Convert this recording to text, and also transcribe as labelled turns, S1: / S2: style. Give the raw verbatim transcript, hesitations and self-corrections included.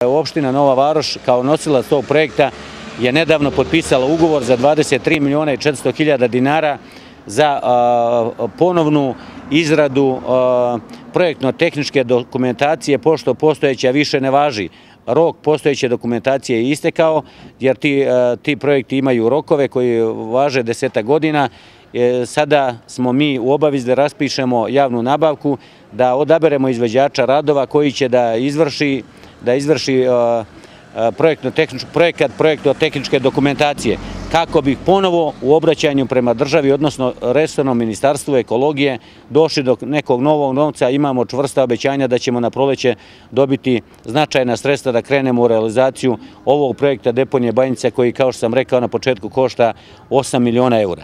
S1: Opština Nova Varoš kao nosilac tog projekta je nedavno potpisala ugovor za dvadeset tri miliona i četiristo hiljada dinara za ponovnu izradu projektno-tehničke dokumentacije, pošto postojeća više ne važi. Rok postojeće dokumentacije je istekao, jer ti, ti projekti imaju rokove koji važe desetak godina. Sada smo mi u obavezi da raspišemo javnu nabavku, da odaberemo izvođača radova koji će da izvrši, da izvrši projekat projektno-tehničke dokumentacije, kako bi ponovo u obraćanju prema državi, odnosno resornom ministarstvu ekologije, došli do nekog novog novca. Imamo čvrsta obećanja da ćemo na proleće dobiti značajna sredstva da krenemo u realizaciju ovog projekta deponije Banjica, koji, kao što sam rekao na početku, košta osam miliona eura.